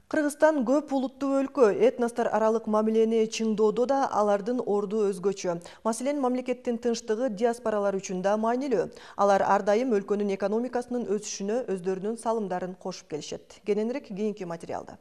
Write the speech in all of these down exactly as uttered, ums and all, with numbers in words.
Кыргызстан көп улуттуу өлкө, этностор аралык мамилени чыңдоодо да алардын орду өзгөчө. Маселен, мамлекеттин тынчтыгы диаспоралар үчүн да маанилүү. Алар ар дайым өлкөнүн экономикасынын өсүшүнө өздөрүнүн салымдарын кошуп келишет. Кененирээк кийинки материалда.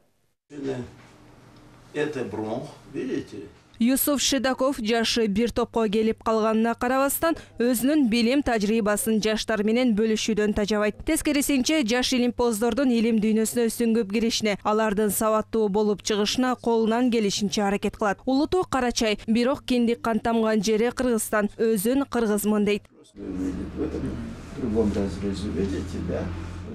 Это бронх, видите? Юсуф Шидаков жашы бир топко келип калганына карабастан, өзүнүн билим тажрыйбасын жаштар менен бөлүшүүдөн тажабайт. Тескерисинче, жаш илимпоздордун илим дүйнөсүнө сүңгүп киришине, алардын сабаттуу болуп чыгышына колунан келишинче аракет кылат. Улуту Карачай, бирок киндик кан тамган жери Кыргызстан, өзүн кыргызмын дейт.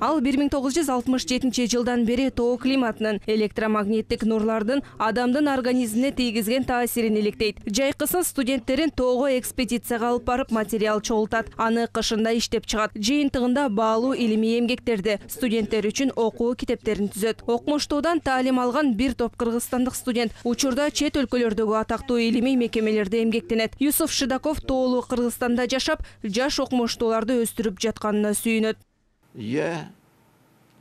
Ал бир миң тогуз жүз алтымыш жетинчи жылдан бери тоо климатынын, электромагниттик нурлардын адамдын организмине тийгизген таасирин иликтейт. Жайкысын студенттерин тоого экспедицияга алып барып материал чогултат. Аны кышында иштеп чыгат. Жыйынтыгында баалуу илимий эмгектерди, студенттер үчүн окуу китептерин түзөт. Окумуштуудан таалим алган бир топ кыргызстандык студент учурда чет өлкөлөрдөгү атактуу илимий мекемелерде эмгектенет. Юсуф Шидаков тоолуу Кыргызстанда жашап, жаш окумуштууларды өстүрүп жатканына сүйүнөт. Я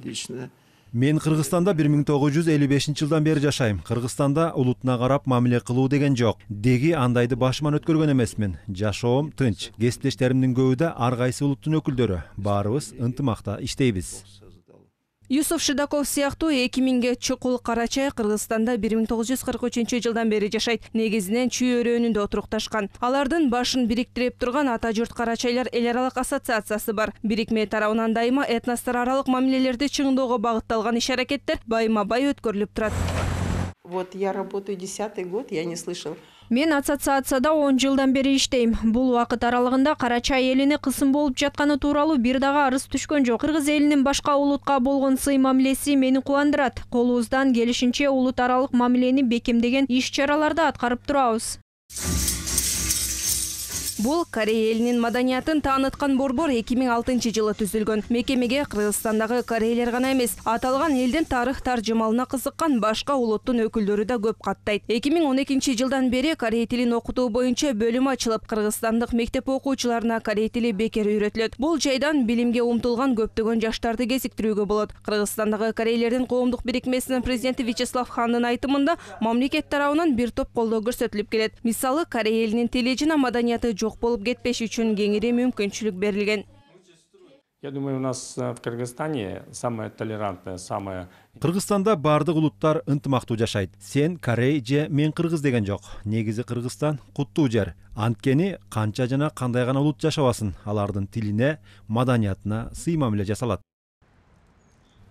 лично Мен Кыргызстанда бир миң тогуз жүз элүү бешинчи жылдан бери жашайм. Кыргызстанда улутуна карап мамиле кылуу деген жок. Деги андайды башыман өткөргөн эмесмин. Жашоом тынч. Кесиптештеримдин көбү да ар кайсы улуттун өкүлдөрү. Баарыбыз ынтымакта иштейбиз. Юсуф Шидаков сыяктуу эки миңге чукул Карачай Кыргызстанда бир миң тогуз жүз кырк үчүнчү жылдан бери жашайт. Негизинен Чүй өрөөнүндө отурукташкан. Алардын башын бириктирип турган Ата журт Карачайлар эл аралык ассоциациясы бар. Бирикме тарабынан дайыма этностор аралык мамилелерди чыңдоого багытталган иш-аракеттер байма-бай өткөрүлүп турат. Вот я работаю десятый год, я не слышал. Мен ассоциацияда он жылдан бери иштейм. Бул убакыт аралыгында Карачай элине кысым болуп жатканы тууралуу бир дагы арыз түшкөн жок. Кыргыз элинин башка улутка болгон сый мамилеси мени кубандырат. Колубуздан келишинче улут аралык мамилени бекемдеген иш-чараларды аткарып турабыз. Бул Корей элинин маданиятын тааныткан борбор эки миң алтынчы жылы түзүлгөн. Мекемеге Кыргызстандагы корейлер гана эмес, аталган элдин тарых таржымалына кызыккан башка улуттун өкүлдөрү да көп каттайт. эки миң он экинчи жылдан бери корей тилин окутуу боюнча бөлүм ачылып, кыргызстандык мектеп окуучуларына корей тили бекер үйрөтүлөт. Бул жайдан билимге умтулган көптөгөн жаштарды кезиктирүүгө болот. Кыргызстандагы корейлердин коомдук бирикмесинин президенти Вячеслав Ханнын айтымында, мамлекет тарабынан бир топ колдоо көрсөтүлүп келет. Мисалы, корей элинин тили жана маданияты жок болуп кетпеш үчүн кеңири мүмкүнчүлүк берилген. Я думаю, у нас в Кыргызстане самое толерантное, самое... Кыргызстанда бардык улуттар ынтымактуу жашайт. Сен корей же мен кыргыз деген жок. Негизи Кыргызстан куттуу жер. Анткени канча жана кандай гана улут жашабасын, алардын тилине, маданиятына сый мамиле жасалат.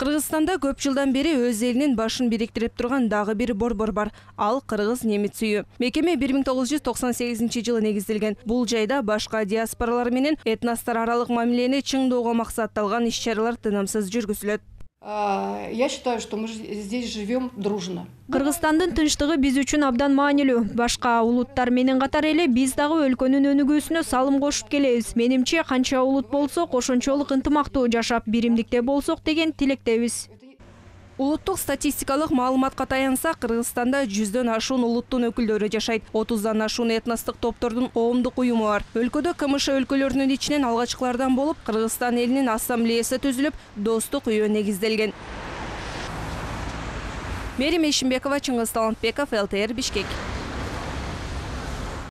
Кыргызстанда көп жылдан бери өз элинин башын бириктирип турган дагы бир борбор бар. Ал кыргыз немец үйү. Мекеме бир миң тогуз жүз токсон сегизинчи жылы негизделген. Бул жайда башка диаспоралар менен этностор аралык мамилени чыңдоого максатталган иш-чаралар тынымсыз жүргүзүлөт. Я считаю, что мы здесь живем дружно. Кыргызстандын тынчтыгы биз үчүн абдан маанилүү. Башка улуттар менен катар эле биз дагы өлкөнүн өнүгүүсүнө салым кошуп келебиз. Менимче, канча улут болсок, ошончолук ынтымактуу жашап, биримдикте болсок деген тилектебиз. Улуттук статистикалык маалыматка таянсак, Кыргызстанда жүздөн ашуун улуттун өкүлдөрү жашайт. отуздан ашуун этностук топтордун коомдук уюму бар. Өлкөдө КМШ өлкөлөрүнүн ичинен алгачкылардан болуп, Кыргызстан элинин ассамблеясы түзүлүп, достук үйү негизделген. Мерим Ишимбекова, Чыңгыз Талантбеков, эл тэ эр, Бишкек.